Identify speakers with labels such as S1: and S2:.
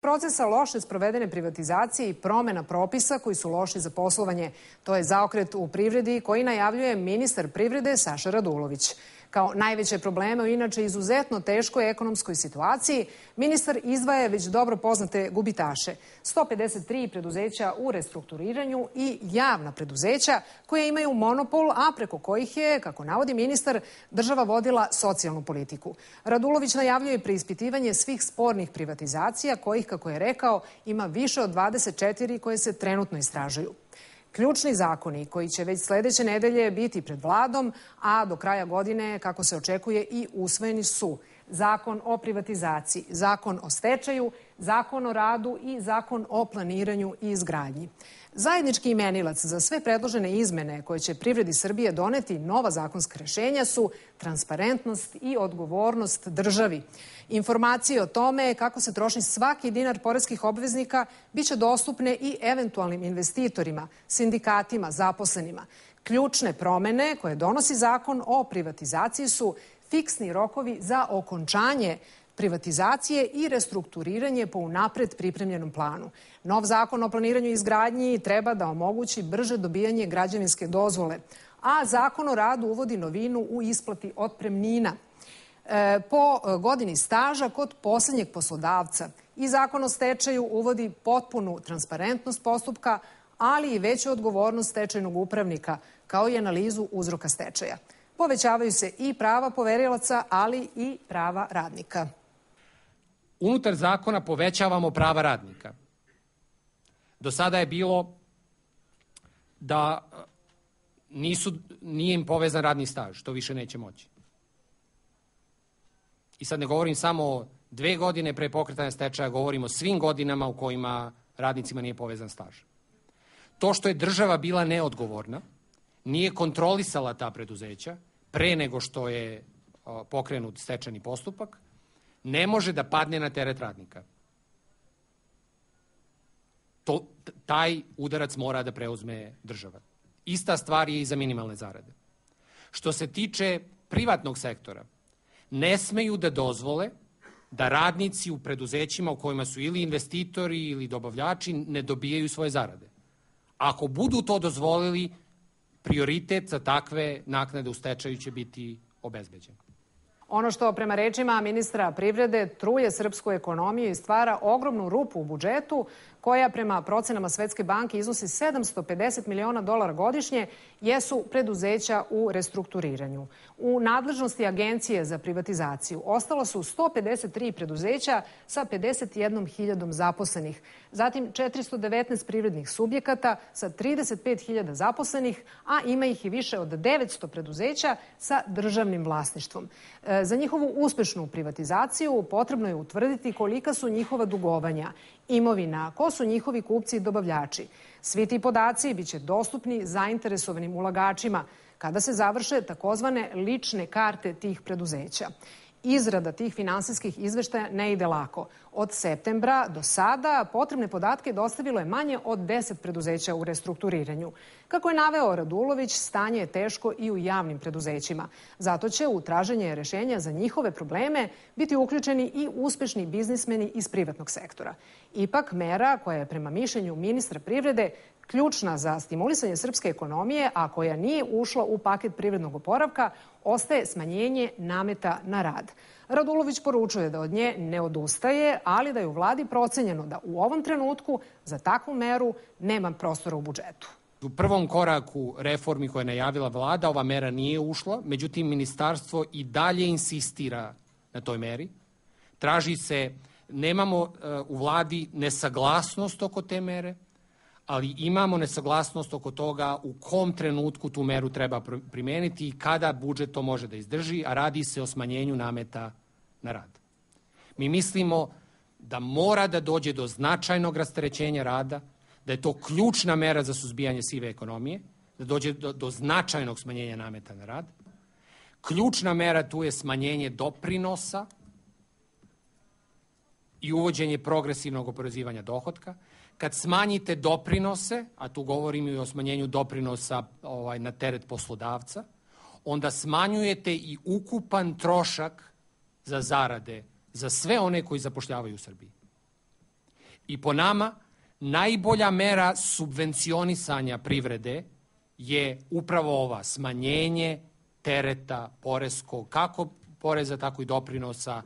S1: Procesa loše sprovedene privatizacije i promena propisa koji su loši za poslovanje. To je zaokret u privredi koji najavljuje ministar privrede Saša Radulović. Kao najveće probleme u inače izuzetno teškoj ekonomskoj situaciji, ministar izdvaja već dobro poznate gubitaše. 153 preduzeća u restrukturiranju i javna preduzeća koja imaju monopol, a preko kojih je, kako navodi ministar, država vodila socijalnu politiku. Radulović najavljuje preispitivanje svih spornih privatizacija kojih, kako je rekao, ima više od 24 koje se trenutno istražuju. Ključni zakoni koji će već sledeće nedelje biti pred vladom, a do kraja godine, kako se očekuje, i usvojeni su Zakon o privatizaciji, Zakon o stečaju, Zakon o radu i Zakon o planiranju i izgradnji. Zajednički imenilac za sve predložene izmene koje će privredi Srbije doneti nova zakonska rešenja su transparentnost i odgovornost državi. Informacije o tome kako se troši svaki dinar poreskih obveznika biće dostupne i eventualnim investitorima, sindikatima, zaposlenima. Ključne promene koje donosi Zakon o privatizaciji su fiksni rokovi za okončanje privatizacije i restrukturiranje po unapred pripremljenom planu. Nov zakon o planiranju i izgradnji treba da omogući brže dobijanje građevinske dozvole, a Zakon o radu uvodi novinu u isplati otpremnina po godini staža kod poslednjeg poslodavca. I Zakon o stečaju uvodi potpunu transparentnost postupka, ali i veću odgovornost stečajnog upravnika, kao i analizu uzroka stečaja. Povećavaju se i prava poverilaca, ali i prava radnika.
S2: Unutar zakona povećavamo prava radnika. Do sada je bilo da nije im povezan radni staž, to više neće moći. I sad ne govorim samo o 2 godine pre pokretanja stečaja, govorim o svim godinama u kojima radnicima nije povezan staž. To što je država bila neodgovorna, nije kontrolisala ta preduzeća pre nego što je pokrenut stečajni postupak, ne može da padne na teret radnika. Taj udarac mora da preuzme država. Ista stvar je i za minimalne zarade. Što se tiče privatnog sektora, ne smeju da dozvole da radnici u preduzećima u kojima su ili investitori ili dobavljači ne dobijaju svoje zarade. Ako budu to dozvolili, prioritet za takve naknade u stečaju će biti obezbeđen.
S1: Ono što prema rečima ministra privrede truje srpsku ekonomiju i stvara ogromnu rupu u budžetu, koja prema procenama Svetske banke iznosi $750 miliona godišnje, jesu preduzeća u restrukturiranju. U nadležnosti Agencije za privatizaciju ostalo su 153 preduzeća sa 51.000 zaposlenih, zatim 419 privrednih subjekata sa 35.000 zaposlenih, a ima ih i više od 900 preduzeća sa državnim vlasništvom. Za njihovu uspešnu privatizaciju potrebno je utvrditi kolika su njihova dugovanja, imovina, ko su njihovi kupci i dobavljači. Svi ti podaci biće dostupni zainteresovanim ulagačima kada se završe takozvane lične karte tih preduzeća. Izrada tih finansijskih izveštaja ne ide lako. Od septembra do sada potrebne podatke dostavilo je manje od 10 preduzeća u restrukturiranju. Kako je naveo Radulović, stanje je teško i u javnim preduzećima. Zato će u traženje rešenja za njihove probleme biti uključeni i uspešni biznismeni iz privatnog sektora. Ipak, mera koja je prema mišljenju ministra privrede ključna za stimulisanje srpske ekonomije, a koja nije ušla u paket privrednog oporavka, ostaje smanjenje nameta na rad. Radulović poručuje da od nje ne odustaje, ali da je u vladi procenjeno da u ovom trenutku za takvu meru nema prostora u budžetu.
S2: U prvom koraku reformi koje je najavila vlada ova mera nije ušla, međutim ministarstvo i dalje insistira na toj meri. Traži se, nemamo u vladi nesaglasnost oko te mere, ali imamo nesaglasnost oko toga u kom trenutku tu meru treba primeniti i kada budžet to može da izdrži, a radi se o smanjenju nameta na rad. Mi mislimo da mora da dođe do značajnog rasterećenja rada, da je to ključna mera za suzbijanje sive ekonomije, da dođe do značajnog smanjenja nameta na rad. Ključna mera tu je smanjenje doprinosa i uvođenje progresivnog oporezivanja dohotka. Kad smanjite doprinose, a tu govorim i o smanjenju doprinosa na teret poslodavca, onda smanjujete i ukupan trošak za zarade za sve one koji zapošljavaju u Srbiji. I po nama, najbolja mera subvencionisanja privrede je upravo ova, smanjenje tereta poreskog, kako poreza, tako i doprinosa.